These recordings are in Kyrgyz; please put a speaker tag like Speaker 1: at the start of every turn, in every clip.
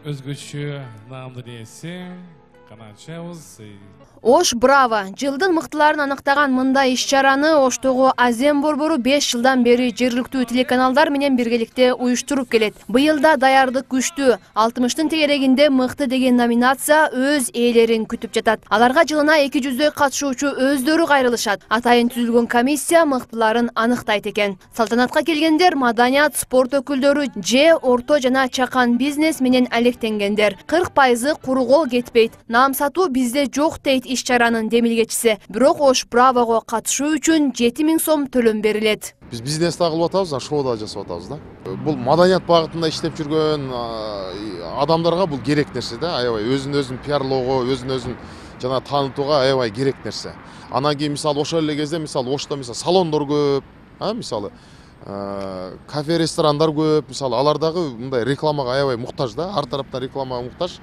Speaker 1: Өзгөчө наамдын ээси каначабыз.
Speaker 2: Ош Браво жылдын мыктыларын аныктаган мындай иш-чараны Оштогу Азем борбору 5 жылдан бери жергиликтүү телеканалдар менен биргеликте уюштуруп келет. Быйыл да даярдык күчтүү. 60-тын тегерегинде мыкты деген номинация өз ээлерин күтүп жатат. Аларга жылына 200 катышуучу өздөрү кайрылышат. Атайын түзүлгөн комиссия мыктыларын аныктайт экен. Салтанатка келгендер маданият, спорт өкүлдөрү же орто жана чакан бизнес менен алектенгендер. 40% куру кол кетпейт. Наам сатуу бизде жок дейт иш-чаранын демилгечиси. Бирок Ош Бравого катышуу үчүн 7000 сом төлөм берилет.
Speaker 3: Биз бизнес да кылып атабыз, шоу да жасап атабыз да. Бул маданият багытында иштеп жүргөн адамдарга бул керек нерсе да, аябай өзүн пиарлоого, өзүн жана таанытууга аябай керек нерсе. Анан кийин мисалы ошол эле кезде Ошто салондор көп, мисалы кафе, ресторандар көп, мисалы алар дагы мындай рекламага аябай муктаж да, ар тараптан рекламага муктаж.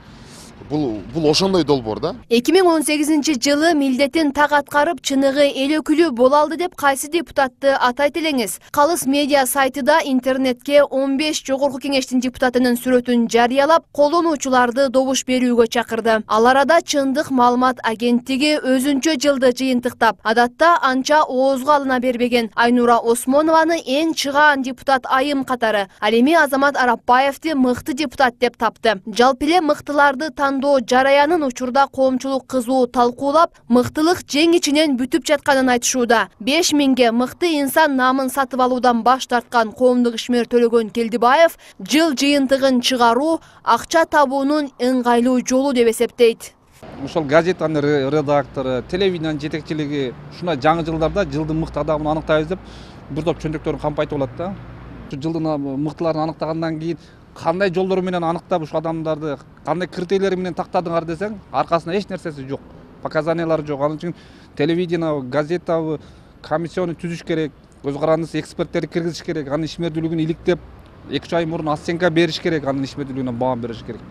Speaker 3: Бул ошондой долбоор да.
Speaker 2: 2018-жылы милдетин так аткарып, чыныгы эл өкүлү боло алды деп кайсы депутатты атайт элеңиз? Калыс медиа сайтыда интернетке 15 жогорку кеңештин депутатынын сүрөтүн жарыялап, колдонуучуларды добуш берүүгө чакырды. Ал арада Чындык маалымат агенттиги өзүнчө жылды жыйынтыктап, адатта анча оозго алына бербеген Айнура Осмонованы эң чыгаан депутат айым катары, ал эми Азамат Арапбаевди мыкты депутат деп тапты. Жалпы эле мыктыларды тандоо жараянын учурда коомчулук кызуу талкуулап, мыктылык жең ичинен бүтүп жатканын айтышууда. 5000ге мыкты инсан наамын сатып алуудан баш тарткан коомдук ишмер Төлөгөн Келдибаев жыл жыйынтыгын чыгаруу акча табуунун ыңгайлуу жолу деп эсептейт.
Speaker 4: Ошол газетанын редактору, телевидениянын жетекчилиги ушундай жаңы жылдарда жылдын мыкты адамын аныктайбыз деп бир топ чөнтөктөрүн кампайтып алат да. Жылдын мыктыларын аныктагандан кийин кандай жолдор менен аныктап ушу адамдарды кандай критерийлер менен тактадыңар десең, аркасында эч нерсеси жок, показаниялары жок. Ал үчүн телевидение, газета, комиссияны түзүш керек, көз карандысы эксперттерди киргизиш керек, анын ишмердүүлүгүн иликтеп 2 ай мурун оценка бериш керек, анын ишмердүүлүгүнө баам бериш керек.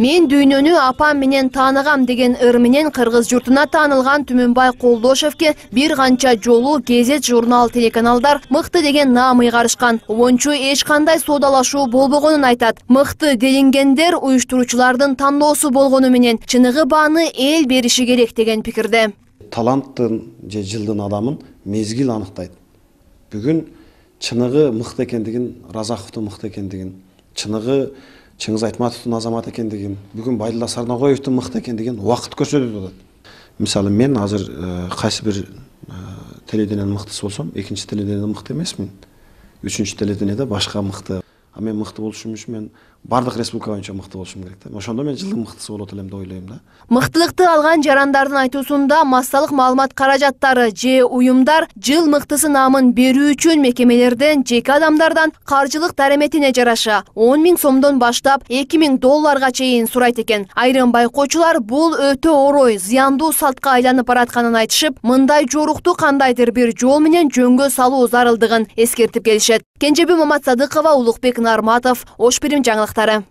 Speaker 2: Мен дүйнөнү апам менен тааныгам деген ыр менен кыргыз журтуна таанылган Түмөнбай Колдошевке бир канча жолу гезет, журнал, телеканалдар мыкты деген наам ыйгарышкан. Обончу эч кандай соодалашуу болбогонун айтат. Мыкты делингендер уюштуруучулардын тандоосу болгону менен чыныгы бааны эл бериши керек деген пикирде.
Speaker 5: Таланттын же жылдын адамын мезгил аныктайт. Бүгүн чыныгы мыкты экендигин, Разаковдун мыкты экендигин, чыныгы Чыңгыз Айтматовдун азамат экендигин, бүгүн Байдулла Сарнагоевдун мыкты экендигин убакыт көрсөтүп атат. Мисалы мен азыр кайсы бир телевидениянын мыктысы болсом, экинчи телевидениянын мыкты эмесмин. Үчүнчү телевиденияда башка мыкты. А мен мыкты болушум үчүн мен бардык республика боюнча мыкты болушум керек да. Ошондо мен жылдын мыктысы болот элем деп ойлойм да.
Speaker 2: Мыктылыкты алган жарандардын айтуусунда массалык маалымат каражаттары же уюмдар жыл мыктысы наамын берүү үчүн мекемелерден, жеке адамдардан каржылык дареметине жараша 10 000 сомдон баштап $2000 чейин сурайт экен. Айрым байкоочулар бул өтө орой, зыяндуу салтка айланып баратканын айтышып, мындай жорукту кандайдыр бир жол менен жөнгө салуу зарылдыгын эскертип келишет. Кенжеби Маматсадыкова, Улукбек Нарматов, Ош Бирим жаңылыктары.